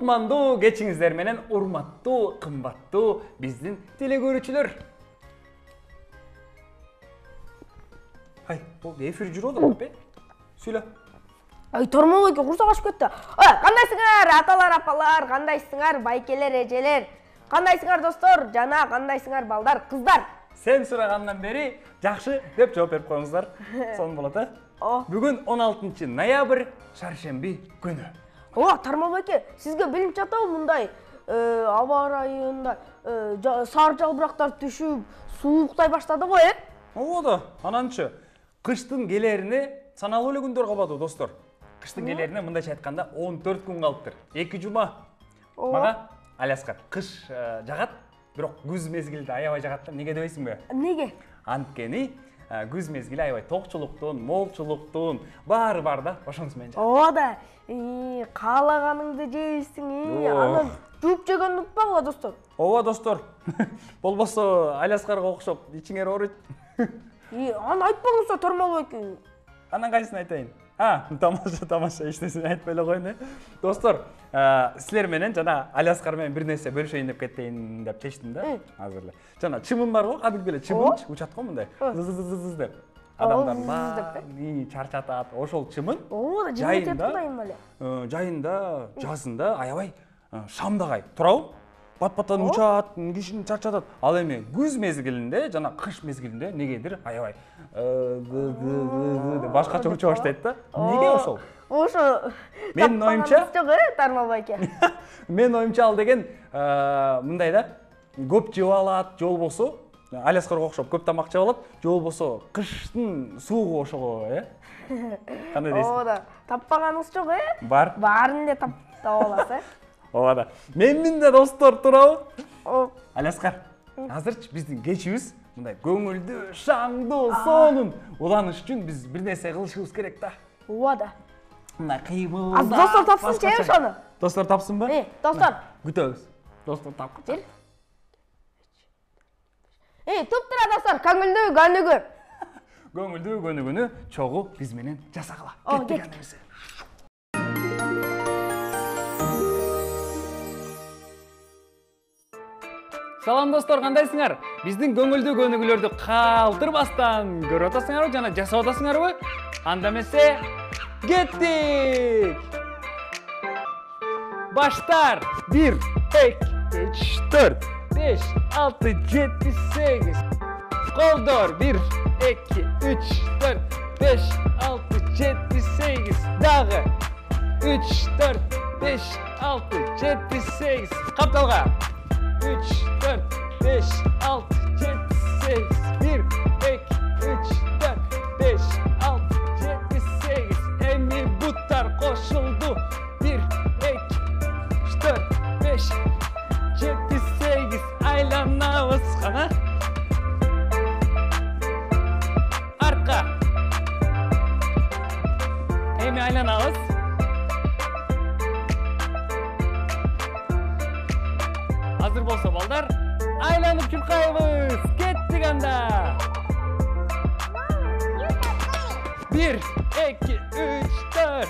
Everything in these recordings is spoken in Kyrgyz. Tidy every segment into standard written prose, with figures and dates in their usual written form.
кутмандуу кечиңиздер менен урматтуу, кымбаттуу биздин телекөрүүчүлөр. Ай, бул эфир жүрүп атат бе? Сүйлө. Ай, Тормол эке курсак ашып кетти. Кандайсыңар, аталар, апалар, кандайсыңар, байкелер, эжелер? Кандайсыңар достор, жана кандайсыңар балдар, кыздар? Сен сурагандан бери жакшы деп жооп берип коюңуздар. Сонун болот, Бүгүн 16 ноябрь, шаршемби күнү. Тормол эке, сизге билип жатабы мындай аба ырайында сары жалбырактар түшүп, сууктай баштады го, Да, ананчы кыштын келерине саналуу эле күндөр калбады, достор. Кыштын келерине мындайча айтканда 14 күн калыптыр. 2 жума. Мага Аляскар, кыш жагат, бирок күз мезгилде аябай жагат. Неге дебейсиңби? Неге? Анткени күз мезгили аябай токчулуктун, молчулуктун баары бар да, ошонусу менен жагат. Да, каалаганыңды жейсиң, анан жууп жегенди унутпагыла, достор. Достор. Болбосо Аляскарга окшоп ичиңер ооруйт. Аны айтпаңыздар, Тормол эке. Анан кайсысын айтайын? Тамаша, эчтесин айтпай эле коеюн, Достор, силер менен жана Аляскар менен бир нерсе бөлүшөйүн деп кетейин деп чечтим да, азыр эле. Жана чымын бар го, кадимки эле чымын учат го мындай. Зыз деп. Адамдар чарчатат. Ошол чымын жайында, жазында аябай шамдагай турабы? Пат-паттан учат, кишини чарчатат. Ал эми күз мезгилинде жана кыш мезгилинде негедир аябай башкача уча баштайт да. Неге ошол? Ошо Менин оюмча, Тормол эке. Менин оюмча ал деген мындай да, көп жеп алат, же болбосо Аляскарга окшоп көп тамак жеп алат, же болбосо кыштын суугу ошого, Кандай дейсиң? Да, таппаганыңыз жок, Бар. Баарын эле таап аласыз, Да. Менин да достор турабы? Аляскар, азырчы биздин кечибиз мындай көңүлдүү, шаңдуу, сонун уланыш үчүн биз бир нерсе кылышыбыз керек да. Да. Мындай кыймыл. Достор тапсынчы ошону. Достор тапсынбы? Достор. Күтөбүз. Достор тапкычы. Туптура достор, көңүлдүү көнүгүү. Көңүлдүү көнүгүүнү чогуу биз менен жасагыла. Кеттик. Салам достор, кандайсыңар? Биздин көңүлдүү көнүгүүлөрдү калтырбастан көрүп атасыңарбы жана жасап атасыңарбы? Анда эмесе, кеттик! Баштар! 1, 2, 3, 4, 5, 6, 7, 8. Колдор! 1, 2, 3, 4, 5, 6, 7, 8. Дагы! 3, 4, 5, 6, 7, 8. Капталга! 3, 4, 5, 6, 7, 8. 1, 2, 3, 4, 5, 6, 7, 8. Эми буттар кошулду. 1, 2, 4, 5, 7, 8. Айланабыз кана. Артка. Эми айланабыз. Азыр болсо балдар, айланып чуркайбыз. Кеттик анда. 1, 2, 3, 4,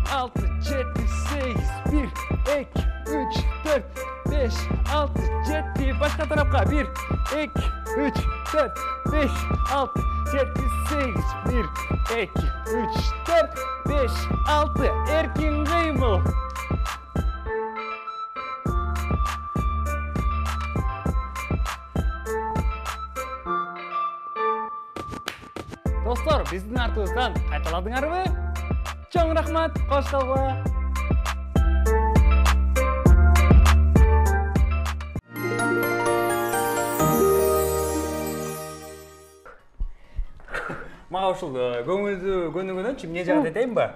6, 7, 8. 1, 2, 3, 4, 5, 6, 7. Башка тарапка. 1, 2, 3, 4, 5, 6, 7, 8. 1, 2, 3, 4, 5, 6. Эркин кыймыл. Достор, биздин артыбыздан кайталадыңарбы? Чоң рахмат, кош калгыла. Мага ушул көңүлдүү көнүгүүнөнчү эмне жагат этейинби?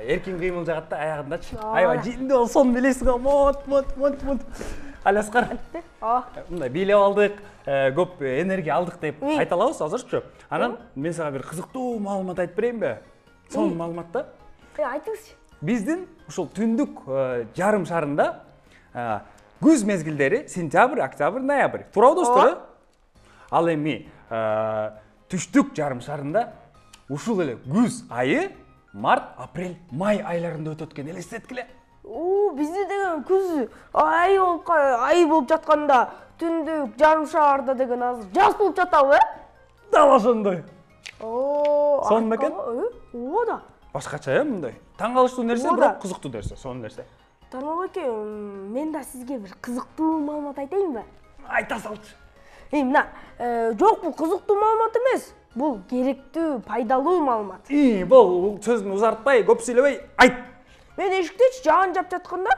Эркин кыймыл жагат да, аягындачы. Аябай жинди болсом билесиң го, мот. Аляскар. Мындай бийлеп алдык, көп энергия алдык деп айта алабыз азырчы. Анан мен сага бир кызыктуу маалымат айтып берейинби? Сонун маалымат да. Айтыңызчы. Биздин ушул түндүк жарым шарында күз мезгилдери сентябрь, октябрь, ноябрь. Туурабы достор? Ал эми түштүк жарым шарында ушул эле күз айы март, апрель, май айларында өтөт экен, элестеткиле. бизде деген күз ай болуп жатканда түндүк жарым шаарда деген азыр жаз болуп жатабы? Дал ошондой. Сонун Сонун бекен? Ооба. Башкача мындай. Таң калыштуу нерсе, бирок кызыктуу нерсе, сонун нерсе. Тармак эке, мен да сизге бир кызыктуу маалымат айтайынбы? Айта салчы. Мына, жок, бул кызыктуу маалымат эмес. Бул керектүү, пайдалуу маалымат. Бул сөзүн узартпай, көп сүйлөбөй, айт. Мен эшиктечи жаан жап жатканда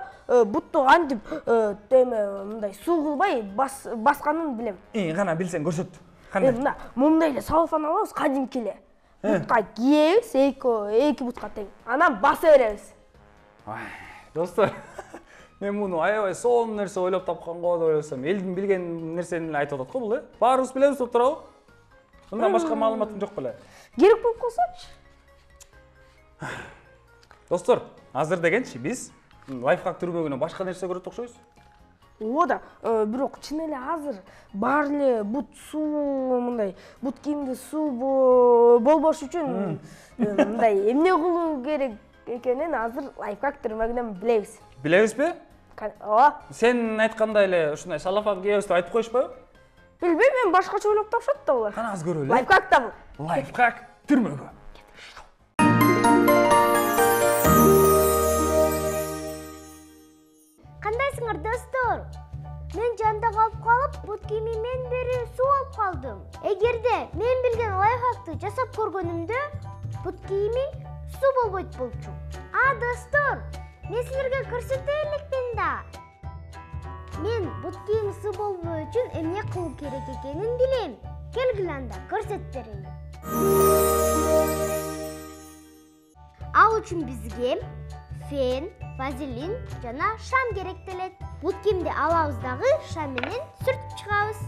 бутту кантип мындай суу кылбай басканын билем. Кана билсең көрсөт. Кандай? Мына, мындай эле салфан алабыз, кадимки эле. Бутка кийебиз, эки бутка тең. Анан баса беребиз. Достор, мен муну аябай сонун нерсе ойлоп тапкан го деп ойлосом, элдин билген нерсени эле айтып атат го бул, Баарыбыз билебиз деп турабы? Мындан башка маалыматым жок беле. Керек болуп калсачы. Достор, азыр дегенчи биз лайфхак түрмөгүнөн башка нерсе көрөт окшойбуз. Ооба, бирок чын эле азыр баары эле бут суу мындай, бут кийимде суу болбош үчүн мындай эмне кылуу керек экенин азыр лайфхак түрмөгүнөн билебиз. Билебизби? Ооба. Сен айткандай эле ушундай салафан кийебиз деп айтып коюшпайбы? Билбейм, мен башкача ойлоп тапшат да булар. Кана аз көрөлү. Лайфхак да бул. Лайфхак түрмөгү. Кандайсыңар достор? Мен жанда калып, бут кийимимен бери суу алып калдым. Эгерде мен билген лайфхакты жасап көргөнүмдө, бут кийимиң суу болбойт болчу. Достор, мен силерге көрсөтө элекмин да. Мен бут кийим суу болбоо үчүн эмне кылуу керек экенин билем. Келгиле анда көрсөтүп берейин. Ал үчүн бизге фен, вазелин жана шам керектелет. Бут кийимди алабыз дагы шам менен сүртүп чыгабыз.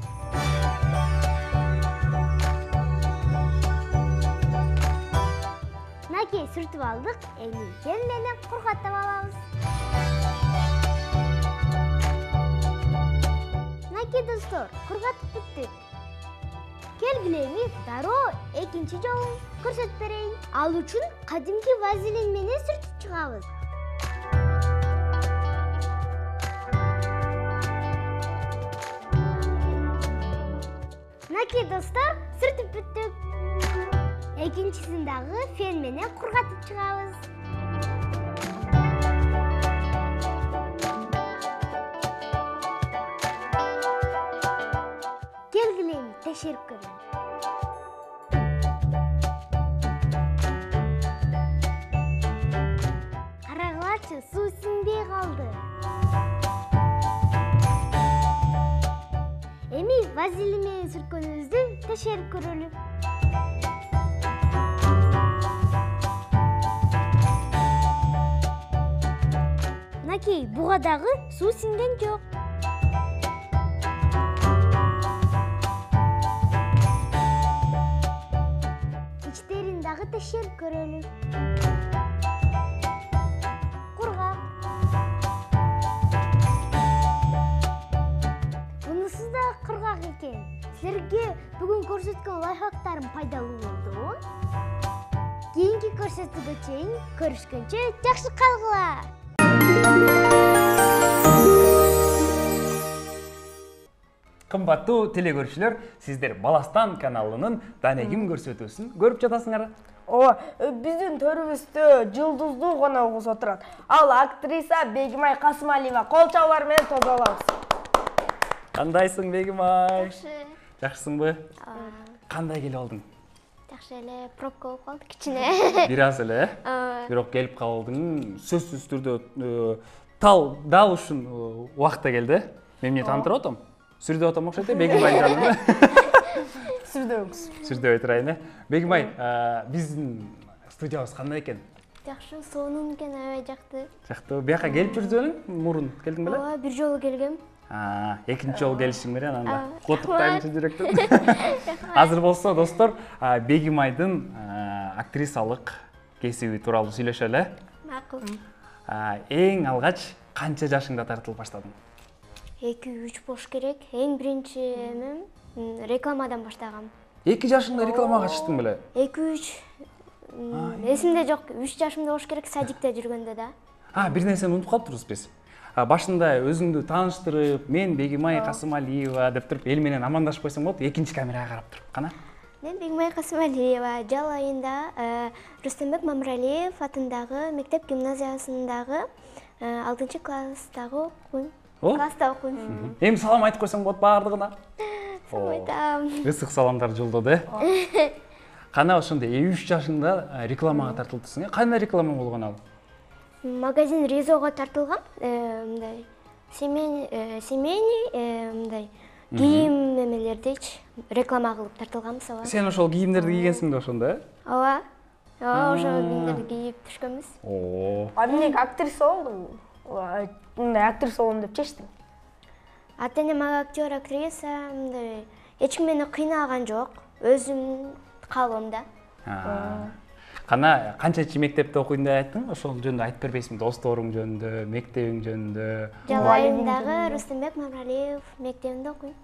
Накей сүртүп алдык, эми фен менен кургатып алабыз. Накей достор, кургатып бүттүк. Келгиле эми дароо экинчи жолун көрсөтүп берейин. Ал үчүн кадимки вазелин менен сүртүп чыгабыз. Накей достор, сүртүп бүттүк. Экинчисин дагы фен менен кургатып чыгабыз. Келгиле эми текшерип көрөлү. Карагылачы, суу сиңбей калды. Эми вазелин менен сүрткөнүбүздү текшерип көрөлү. Накей, буга дагы суу сиңген жок. Ичтерин дагы текшерип көрөлү. Кургак. Бунусу да кургак экен. Силерге бүгүн көрсөткөн лайфхактарым пайдалуу болду. Кийинки көрсөтүүгө чейин көрүшкөнчө жакшы калгыла. Кымбаттуу телекөрүүчүлөр, сиздер Баластан каналынын Данегим көрсөтүүсүн көрүп жатасыңар. Ооба, биздин төрүбүздө жылдыздуу коногубуз отурат. Ал актриса Бегимай Касымалиева. Кол чабуулар менен тоодолобуз. Кандайсың, Бегимай? Жакшы. Жакшысыңбы? Кандай келип алдың? Жакшы эле, пробка болуп калды кичине. Бир аз эле, бирок келип калдың. Сөзсүз түрдө дал ушун убакта келди. Мен эмне таанытып атам? Сүрдөп атам окшойт, Бегимай жанын. Сүрдөбүз. Сүрдөбөй турайын. Бегимай, биздин студиябыз кандай экен? Жакшы, сонун экен, аябай жакты. Жактыбы? Бияка келип жүрдүң, мурун келдиң беле? Ооба, бир жолу келгем. Экинчи жолу келишиң менен анда. Куттуктайм чын жүрөктөн. Азыр болсо, достор, Бегимайдын актрисалык кесиби тууралуу сүйлөшөлү. Макул. Эң алгач канча жашыңда тартылып баштадың? 2-3 болуш керек. Эң биринчи эмем рекламадан баштагам. 2 жашыңда рекламага чыктың беле? 2-3 эсимде жок. 3 жашымда болуш керек, садикте жүргөндө да. Бир нерсени унутуп калыптырбыз биз. башында өзүңдү тааныштырып, мен Бегимай Касымалиева деп туруп, эл менен амандашып койсоң болот, экинчи камерага карап туруп кана. Мен Бегимай Касымалиева, жыл айында Рустембек Мамыралиев атындагы мектеп гимназиясындагы 6-класстагы окуйм. Класста окуйм. Эми салам айтып койсоң болот баардыгына. Салам айтам. Ысык саламдар жолдоду, Кана ошондо 3 жашында рекламага тартылдысың. Кандай реклама болгон ал? Магазин Ризого тартылган. Мындай семейный мындай кийим эмелердичи реклама кылып тартылганбыз, ооба. Сен ошол кийимдерди кийгенсиң да ошондо, Ооба. Ошол кийимдерди кийип түшкөнбүз. Эмнеге актриса болдуң? Мындай актриса болом деп чечтиң? Ата-энем актер, актриса, мындай эч ким мени кыйнаган жок. Өзүм каалоомда. Кана канчачы мектепте окуйм деп айттың? Ошол жөнүндө айтып бербейсиңби? Досторуң жөнүндө, мектебиң жөнүндө? Жалайымдагы Рустембек Мамыралиев мектебинде окуйм.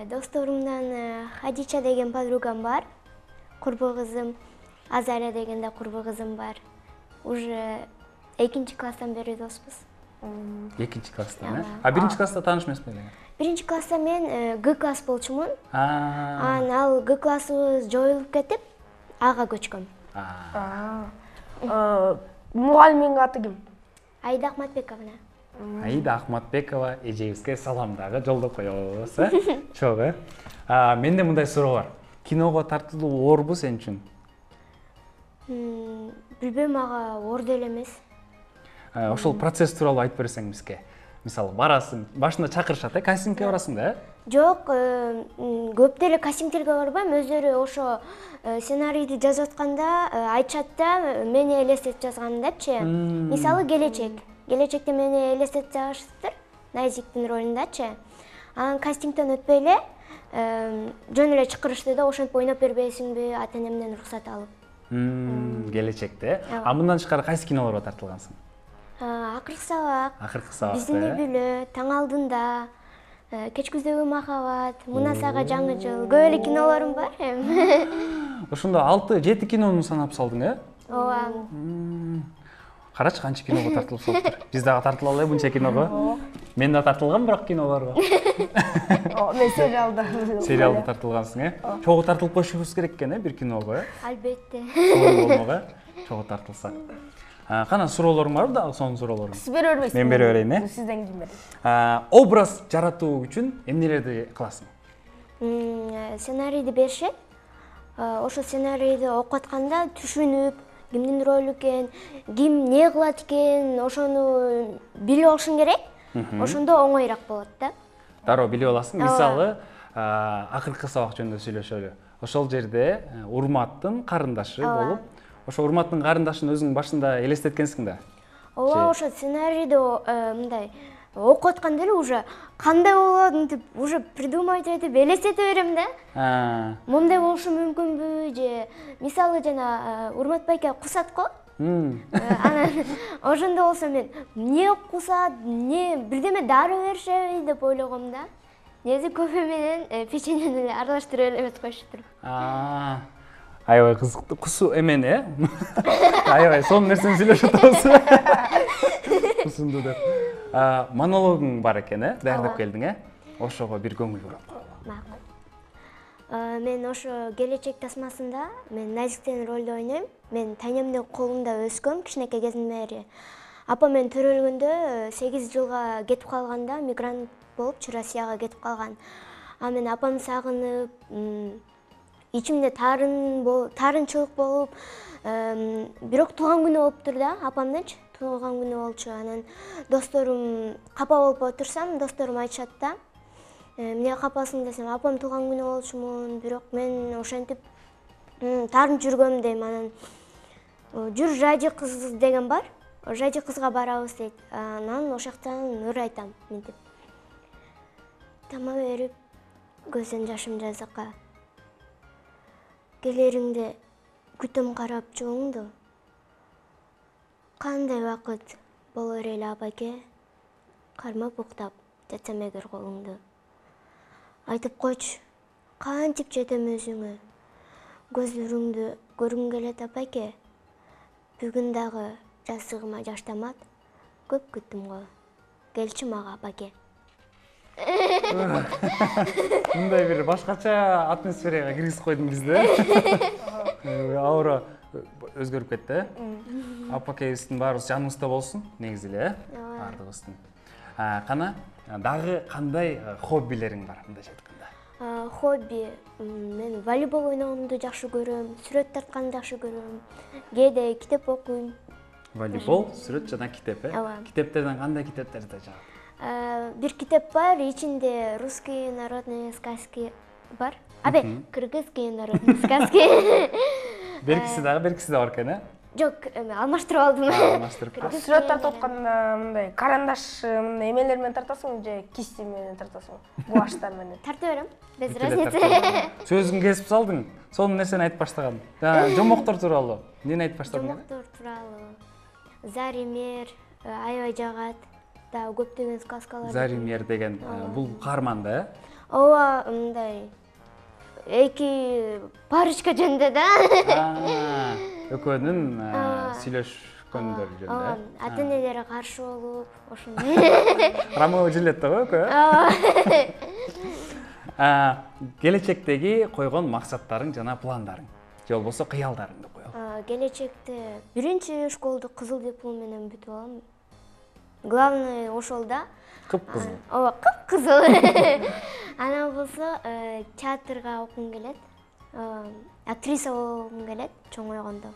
Досторумдан Хадича деген подругам бар. Курбу кызым, Азария деген да курбу кызым бар. Уже 2-класстан бери доспуз. 2-класстан, а 1-класста тааныш эмеспи эле? 1-класста мен Г класс болчумун. Анан ал Г классыбыз жоюлуп кетип, Ага көчкөм. Мугалимиңин аты ким? Аида Акматбековна. Аида Акматбекова эжебизге салам дагы жолдоп коебуз, Чоң, Менде мындай суроо бар. Киного тартылуу оорбу сен үчүн? Билбейм, ага оор деле эмес. Ошол процесс тууралуу айтып берсең бизге. Мисалы, барасың, башында чакырышат, кастингке барасың да? Жок, көп деле кастингтерге барбайм. Өздөрү ошо сценарийди жазып атканда айтышат да, мени элестетип жазган депчи. Мисалы, Келечекте мени элестетип жазышыптыр, Найзиктин ролундачы. Анан кастингден өтпөй эле жөн эле чакырышты да, ошентип ойноп бербейсиңби, ата-энемден уруксат алып. Келечекте. А мындан тышкары кайсы кинолорго тартылгансың? Акыркы сабак, Биздин үй бүлө, Таң алдында, Кеч күздөгү махабат, Мунасага жаңы жыл, көп эле кинолорум бар. Ошондо 6-7 кинону санап салдың, Ооба. Карачы канча киного тартылып салыптыр. Биз дагы тартыла алайлы мынча киного. Мен да тартылгам бирок кинолорго. Мен Сериалда тартылгансың, Чогуу тартылып коюшубуз керек экен, бир киного, Албетте. Болмого, чогуу тартылса. Кана суроолоруң барбы дагы, сонун суроолоруң? Сиз бере бербейсиңби? Мен бере берейин, Сизден ким берет? Образ жаратуу үчүн эмнелерди кыласың? Сценарийди беришет. Ошол сценарийди окуп атканда түшүнүп, кимдин ролу экен, ким эмне кылат экен, ошону билип алышың керек. Ошондо оңоюраак болот да. Дароо билип аласың. Мисалы, акыркы сабак жөнүндө сүйлөшөлү. Ошол жерде Урматтын карындашы болуп, ошо Урматтын карындашын өзүң башында элестеткенсиң да. Ооба, ошо сценарийди мындай окуп атканда эле уже кандай болот деп уже придумать этип элестете берем да. Момундай болушу мүмкүнбү же мисалы жана Урмат байке кусат го. Анан ошондо болсо мен эмне кусат, эмне бирдеме дары беришеби деп ойлогом да. Негизи кофе менен печеньени эле аралаштырып эле эмес коюшуптур. Аябай кызыктуу. Кусу эмени, Аябай сонун нерсени сүйлөшүп атабыз. Кусунду деп. Монологуң бар экен, даярдап келдиң, Ошого бир көңүл бурап. Макул. Мен ошо Келечек тасмасында мен Найзиктин ролду ойнойм. Мен тайнемдин колунда өскөм кичинекей кезимден бери. Апам мен төрөлгөндө 8 жылга кетип калганда, мигрант болуп Россияга кетип калган. Мен апамды сагынып, ичимде таарынчылык болуп, бирок туулган күнү болуптур да, апамдынчы туулган күнү болчу. Анан досторум капа болуп отурсам, досторум айтышат да, эмне капасың десем, апам туулган күнү болчумун, бирок мен ошентип таарынып жүргөм дейм. Анан жүр Жади кыз деген бар, Жади кызга барабыз дейт. Анан ошол жактан ыр айтам мынтип. Тама берип, көздөн жашым жазыкка. Келериңде күтөм карап жооңду. Кандай вакыт болор эле апаке, кармап уктап жатсам эгер колуңду. Айтып койчу, кантип жетем өзүңө. Көзлөрүңдү көргүм келет апаке. Бүгүн дагы жасыгыма жаш тамат. көп күттүм го. Келчи мага баке. Мындай бир башкача атмосферага киргизип койдуң бизди. Аура өзгөрүп кетти. Апакебиздин баарыбыз жаныбызда болсун, негизи эле, баардыгыбыздын. Кана, дагы кандай хоббилериң бар, мындайча айтканда? Хобби, мен волейбол ойногонду жакшы көрөм, сүрөт тартканды жакшы көрөм, кээде китеп окуйм. Волейбол, сүрөт жана китеп, Ооба. Китептерден кандай китептерди жагат? Бир китеп бар, ичинде русские народные сказки бар. Кыргызские народные сказки. Беркиси да бар экен, э? Жок, алмаштырып алдым. Алмаштырып. Сүрөт тартып атканда мындай карандаш мындай эмелер менен тартасың же кисти менен тартасың? Гуаштар менен. Тартып берем. Без разницы. Сөзүн кесип салдың. Сонун нерсени айтып баштаган. Жомоктор тууралуу. Эмнени айтып баштадың? Жомоктор тууралуу. Заример, аябай жагат. Да көптөгөн сказкалар. Заример деген бул каарман да, э? Ооба, мындай эки парочка жөнүндө да. Экөөнүн сүйлөшкөндөр жөнүндө. Ата энелери каршы болуп, ошондой. Ромео и Джульетта го экөө. Келечектеги койгон максаттарың жана пландарың, же болбосо кыялдарыңды коелу. Келечекте биринчи школду кызыл диплом менен бүтүп алам. Главное ошол да. Кып-кызыл. Ооба, кып-кызыл. Анан болсо театрга окугум келет. Актриса болгум келет чоңойгондо.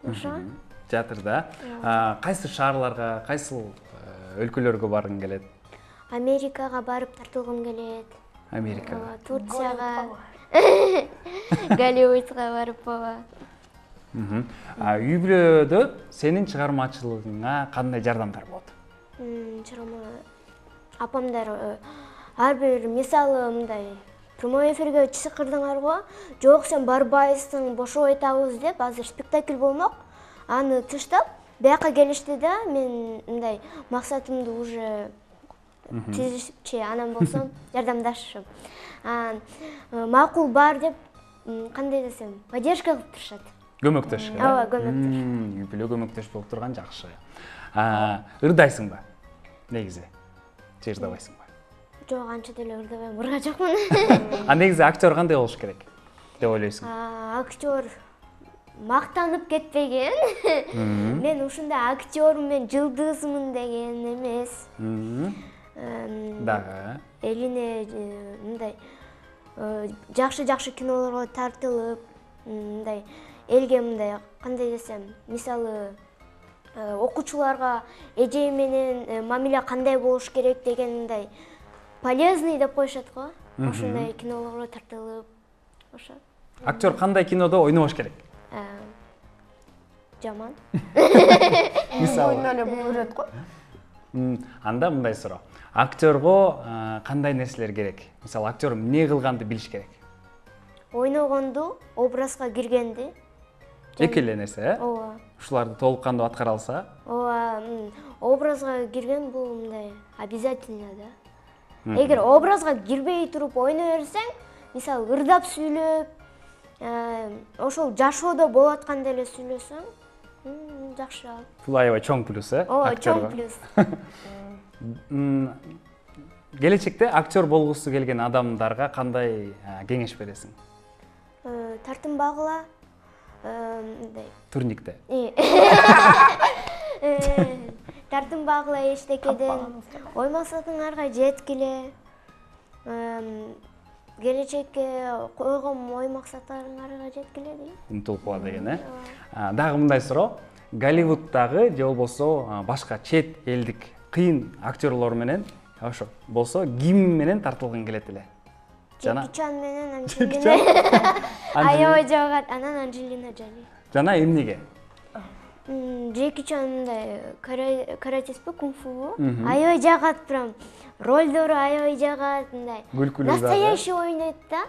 Ошо. Театрда кайсы шаарларга, кайсы өлкөлөргө баргың келет? Америкага барып тартылгым келет. Америкага. Турцияга. Голливудга барып баба. Үй бүлөдө сенин чыгармачылыгыңа кандай жардамдар болот? Апамдар ар бир мисалы мындай прямой эфирге чакырдыңар го, жок сен барбайсың, бошоп айтабыз деп, азыр спектакль болмок. Аны тыштап, бияка келишти да, мен мындай максатымды уже тизишчи, анан болсом жардамдашышым. Макул бар деп, кандай десем, поддержка кылып турушат. Көмөктөш. Ооба, көмөктөш. Үй бүлө көмөктөш болуп турган жакшы. Ырдайсыңбы? Негизи. Же ырдабайсыңбы? Жок, анча деле ырдабайм, ырга жокмун. Негизи актер кандай болуш керек деп ойлойсуң? Актер мактанып кетпеген. Мен ушундай актермун, жылдызмын деген эмес. Дагы Элине мындай жакшы кинолорго тартылып, мындай элге мындай кандай десем, мисалы окуучуларга эже менен мамиле кандай болуш керек деген мындай полезный деп коюшат го. Ошондой кинолорго тартылып, ошо. актер кандай кинодо ойнобош керек? Жаман. Мисалы эле буйрат го. Анда мындай суроо. Актерго кандай нерселер керек? Мисалы актер эмне кылганды билиш керек? Ойногонду, образга киргенди. Эки эле нерсе, э? Ооба. Ушуларды толук кандуу аткара алса? Ооба, образга кирген бул мындай обязательно да. Эгер образга кирбей туруп ойной берсең, мисалы ырдап сүйлөп, ошол жашоодо болуп аткандай эле сүйлөсөң, жакшы ал. Бул аябай чоң плюс, э? Ооба, чоң плюс. Келечекте актер болгусу келген адамдарга кандай кеңеш бересиң? Тартынбагыла, мындай Турникте. Тартынбагыла эчтекеден, ой максатыңарга жеткиле. Келечекке койгон ой максаттарыңарга жеткиле дейм. Умтулуп кала деген, э? Дагы мындай суроо. Голливуддагы же болбосо башка чет элдик кыйын актерлор менен ошо болсо ким менен тартылгың келет эле? Джеки Чан менен Анджелина. Аябай жагат, анан Анджелина Джоли. Жана эмнеге? Джеки Чан мындай каратеспи, кунг-фу. Аябай жагат прям. Ролдору аябай жагат, мындай. Настоящий ойнойт да.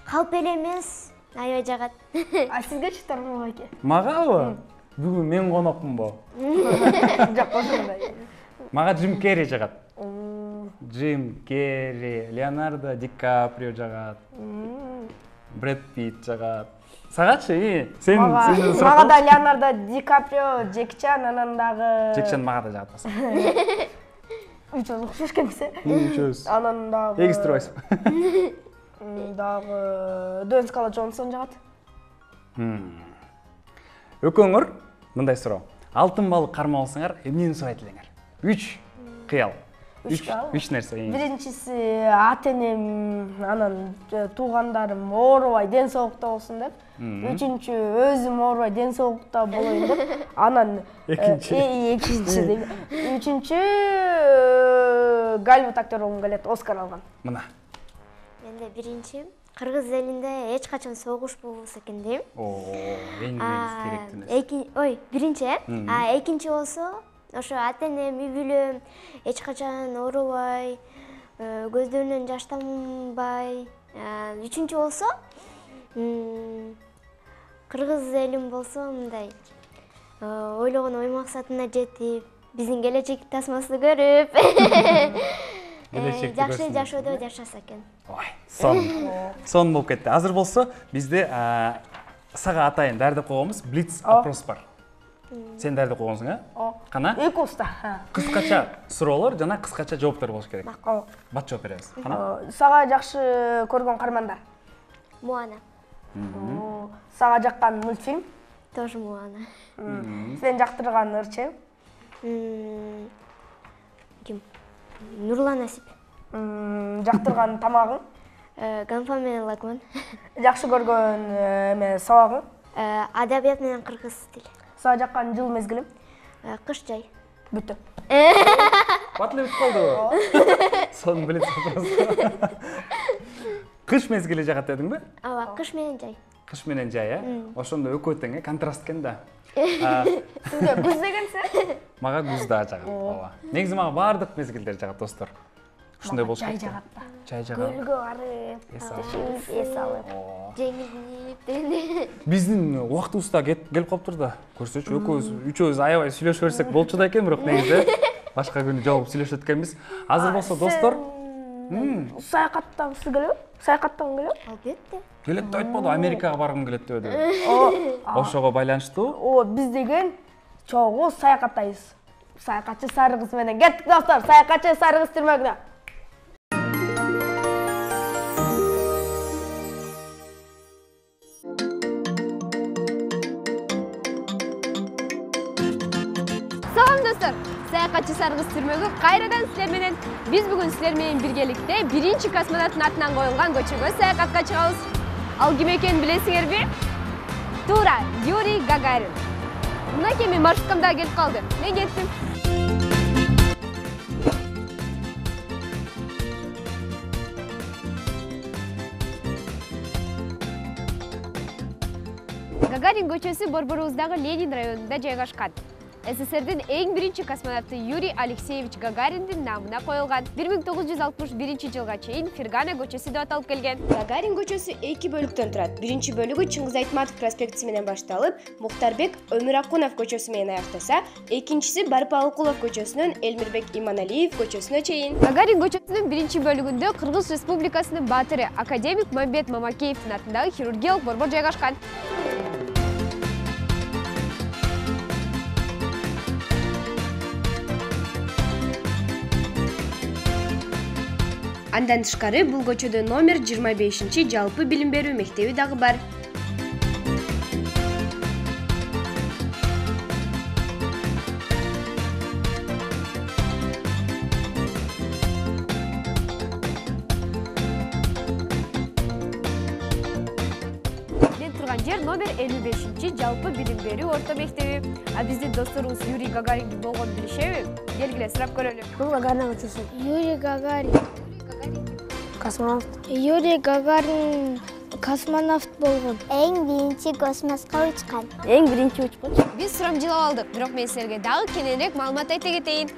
Калп эле эмес, аябай жагат. Сизгечи Тармак аке? Магабы? Бүгүн мен конокмунбу? Жок, ошондой. Мага Джим Керри жагат. Джим Керри, Леонардо Ди Каприо жагат. Брэд Питт жагат. Сагачы, сен мага да Леонардо Ди Каприо, Джеки Чан, анан дагы Джеки Чан мага да жагат болсо. Үчөөбүз окшош экенбиз. Үчөөбүз. Анан дагы Эгистирбайсызбы? Дагы Дуэйн Скала Джонсон жагат. Экөөңөр мындай суроо. Алтын балык кармабалсаңар, эмнени сурайт элеңер? 3 кыял. 3 нерсе. Биринчиси ата-энем, анан туугандарым оорубай ден соолукта болсун деп. Үчүнчү өзүм оорубай ден соолукта болоюн деп. Анан экинчи деп. Үчүнчү Голливуд актер болгум келет, Оскар алган. Мына. Менде биринчи Кыргыз элинде эч качан согуш болбосо экен дейм. Эң керектүү нерсе. Биринчи. Экинчи болсо ошо ата-энем, үй бүлөм эч качан оорубай, көздөрүнөн жаш тамбай. Үчүнчү болсо Кыргыз элим болсо мындай ойлогон ой максатына жетип, биздин келечек тасмасты көрүп, жакшы жашоодо жашаса экен. Ой, сон болуп кетти. Азыр болсо бизде сага атайын даярдап койгонбуз, блиц опрос бар. Сен даярдап койгонсуң, Кана? Эки уста. Кыскача суроолор жана кыскача жооптор болуш керек. Бат жооп беребиз. Кана? Сага жакшы көргөн каармандар? Моана. Сага жаккан мультфильм? Тоже Моана. Сен жактырган ырчы? Ким? Нурлан Асип. Жактырган тамагың? Ганфа менен лакман. Жакшы көргөн эме сабагың? Адабият менен кыргыз тили. Сага жаккан жыл мезгилим? Кыш жай. Бүттү. Бат эле бүтүп калды. Сон билет сопрос. Кыш мезгили жагат дедиңби? Ооба, кыш менен жай. Кыш менен жай, Ошондо экөө тең, контраст экен да. Сизге күз дегенсе? Мага күз да жагат, ооба. Негизи мага баардык мезгилдер жагат, достор. Ушундай болуш керек. Жай жагат да. Жай жагат. Көлгө барып, эс алып. Жеңилип дегенде. Биздин убактыбыз да келип калыптыр да. Көрсөчү, үчөөбүз аябай сүйлөшө берсек болчу да экен, бирок негизи башка күнү жолугуп сүйлөшөт экенбиз. Азыр болсо достор, саякаттагысы келеби? Саякаттагың келеби? Албетте. келет деп айтпады, Америкага баргым келет деді. Ошого байланыштуу. Биз деген чогуу саякаттайбыз. Саякатчы Сарыгыз менен кеттик достор. Саякатчы Сарыгыз түрмөгүнө. Салам достор. Саякатчы Сарыгыз түрмөгү кайрадан силер менен. Биз бүгүн силер менен биргеликте биринчи космонавттын атынан коюлган көчөгө саякатка чыгабыз. Ал ким экенин билесиңерби? Туура, Юрий Гагарин. Мынакей менин маршруткам да келип калды. Мен кеттим. Гагарин көчөсү Борборубуздагы Ленин районунда жайгашкан. СССРдин эң биринчи космонавты Юрий Алексеевич Гагариндин намына коюлган. 1961 жылга чейин Фергана көчөсү деп аталып келген. Гагарин көчөсү 2 бөлүктөн турат. Биринчи бөлүгү Чыңгыз Айтматов проспектиси менен башталып, Мухтарбек Өмүракунов көчөсү менен аяктаса, экинчиси Барпалыкулов көчөсүнөн Элмирбек Иманалиев көчөсүнө чейин. Гагарин көчөсүнүн биринчи бөлүгүндө Кыргыз Республикасынын баатыры академик Мамбет Мамакеевдин атындагы хирургиялык борбор жайгашкан. Андан тышкары бул көчөдө номер 25 жалпы билим берүү мектеби дагы бар. Мен турган жер номер 55 жалпы билим берүү орто мектеби. А биздин досторубуз Юрий Гагарин болгон билишеби? Келгиле сурап көрөлү. Гагарин көчөсү. Юрий Гагарин. Космонавт. Юрий Гагарин космонавт болгон. Эң биринчи космоско учкан. Эң биринчи учкуч. Биз сурамжылап алдык, бирок мен силерге дагы кененирээк маалымат айта кетейин.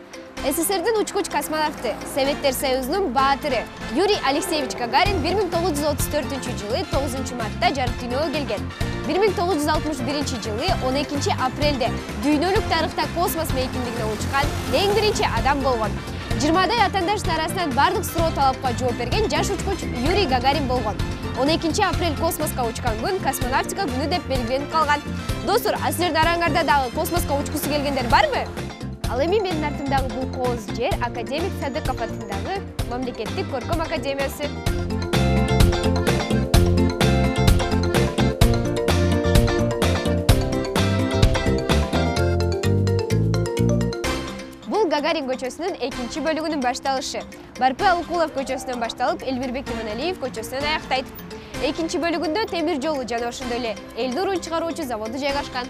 СССРдин учкуч космонавты, Советтер Союзунун баатыры Юрий Алексеевич Гагарин 1934 жылы 9 мартта жарык дүйнөгө келген. 1961 жылы 12 апрелде дүйнөлүк тарыхта космос мейкиндигине учкан эң биринчи адам болгон. 20дай атаандаштын арасынан бардык суроо талапка жооп берген жаш учкуч Юрий Гагарин болгон. 12 апрель космоска учкан күн космонавтика күнү деп белгиленип калган. Достор, а силердин араңарда дагы космоска учкусу келгендер барбы? Ал эми менин артымдагы бул кооз жер академик Садыков атындагы мамлекеттик көркөм академиясы. Бул Гагарин көчөсүнүн 2 бөлүгүнүн башталышы. Барпы Алыкулов көчөсүнөн башталып, Элмирбек Иманалиев көчөсүнөн аяктайт. 2 бөлүгүндө темир жолу жана ошондой эле элдин урун чыгаруучу заводу жайгашкан.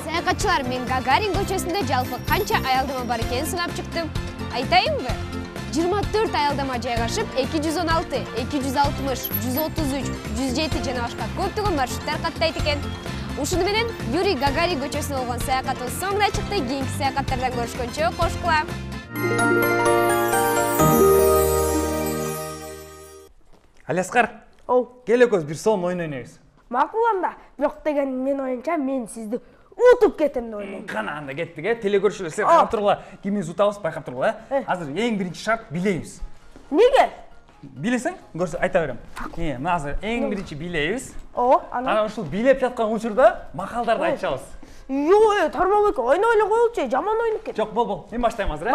Саякатчылар, мен Гагарин көчөсүндө жалпы канча аялдама бар экенин сынап чыктым. Айтайынбы? 24 аялдама жайгашып, 216, 260, 133, 107 жана башка көптөгөн маршруттар каттайт экен. Ушуну менен Юрий Гагарин көчөсүнө болгон саякатыбыз соңуна чыкты. Кийинки саякаттардан көрүшкөнчө кош кыла. Алиаскар, кел экөөбүз бир сон ойнойбуз. Макул анда. Бирок деген мен оюнча мен сизди утуп кетем деп ойлойм. Кана анда кеттик, теле көрүүчүлөр силер карап тургула. Кимибиз утабыз байкап тургула. Азыр эң биринчи шарт билебиз. Неге? Билесең, көрсө айта берем. Мына азыр эң биринчи билебиз. Анан ушул билеп жаткан учурда макалдарды айтышабыз. Жок, Тармабек, ойной эле коелучу, жаман ойнуп кет. Жок, бол. Мен баштайм азыр,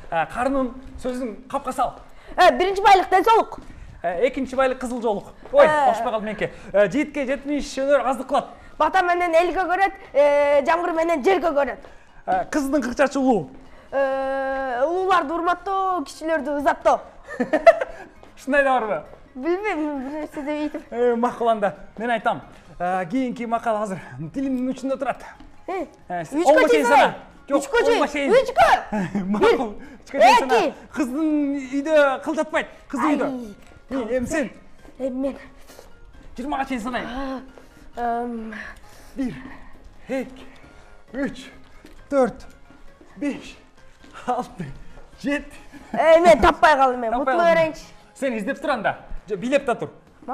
Карнын сөзүн капка сал. Биринчи байлык ден-соолук. Экинчи байлык кызыл жоолук. Ой, окшпой калдым менке. Жигитке 70 өнөр аздык кылат. Бата менен элге көрөт, жаңгыр менен жерге көрөт. Кыздын кыкчачы улуу. Улууларды урматтоо, кичилерди ызаттоо. Ушундай да барбы? Билбейм, бир нерсе деп айтып. Макул анда, мен айтам. Кийинки макал азыр тилимдин учунда турат. Үчкө чейин. Үчкө. Макул. Үчкө чейин. Кыздын үйдө кыл жатпайт. Кыз үйдө. Эми сен? Мен 20га чейин санайм. 1, 2, 3, 4, 5, 6, 7. Мен таппай калдым, мен мутулу берейинчи. Сен издеп тур анда. Билеп да тур.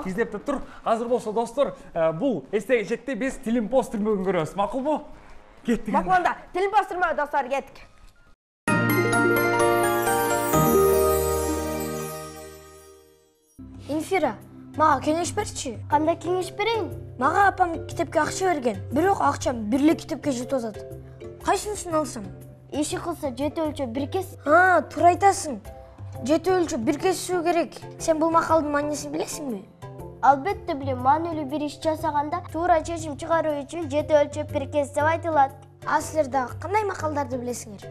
Издеп да тур. Азыр болсо достор, бул эстеги четте биз тилим пост түрмөгүн көрөбүз. Макулбу? Кеттик. Макул анда, тилим пост түрмөгү достор, кеттик. Инфира, мага кеңеш берчи. Кандай кеңеш берейин? Мага апам китепке акча берген. Бирок акчам бир эле китепке жетип атат. Кайсынысын алсам? Иши кылса жети өлчөп бир кес. Туура айтасың. Жети өлчөп бир кесүү керек. Сен бул макалдын маанисин билесиңби? Албетте билем. Маанилүү бир иш жасаганда туура чечим чыгаруу үчүн жети өлчөп бир кес деп айтылат. А силер дагы кандай макалдарды билесиңер?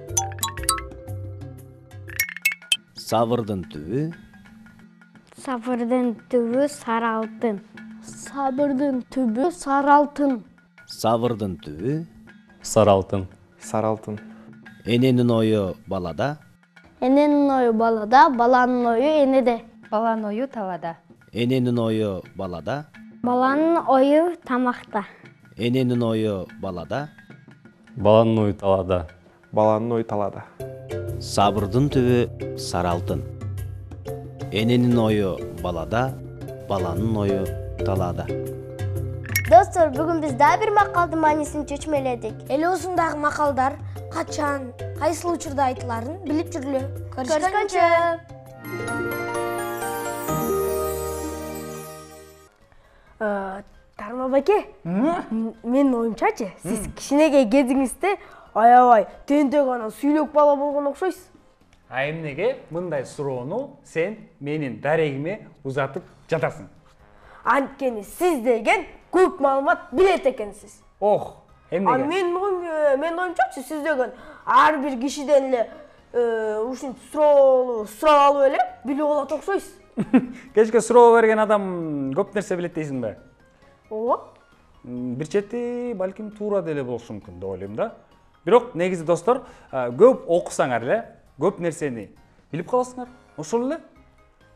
Сабырдын түбү. Сабырдын түбү сары алтын. Сабырдын түбү сары алтын. Сабырдын түбү. Сары алтын. Сары алтын. Эненин ою балада. Эненин ою балада, баланын ою энеде. Баланын ою талада. Эненин ою балада. Баланын ою тамакта. Эненин ою балада. Баланын ою талада. Баланын ою талада. Сабырдын түбү сары алтын. Эненин ою балада, баланын ою талада. Достор, бүгүн биз дагы бир макалдын маанисин чечмеледик. Эле узундагы макалдар качан, кайсыл учурда айтыларын билип жүргүлө. Көрүшкөнчө. Тармабеке, менин оюмчачы, сиз кичинекей кезиңизде аябай тентек анан сүйлөк бала болгон окшойсуз. Эмнеге мындай суроону сен менин дарегиме узатып жатасың? Анткени сиз деген көп маалымат билет экенсиз. Эмнеге? Мен оюмчачы, сиз деген ар бир кишиден эле ушинтип сурап алып эле билип алат окшойсуз. Кечке суроо берген адам көп нерсе билет дейсиңби? Ооба. Бир чети балким туура деле болушу мүмкүн деп ойлойм да. Бирок негизи достор, көп окусаңар эле көп нерсени билип каласыңар. Ошол эле.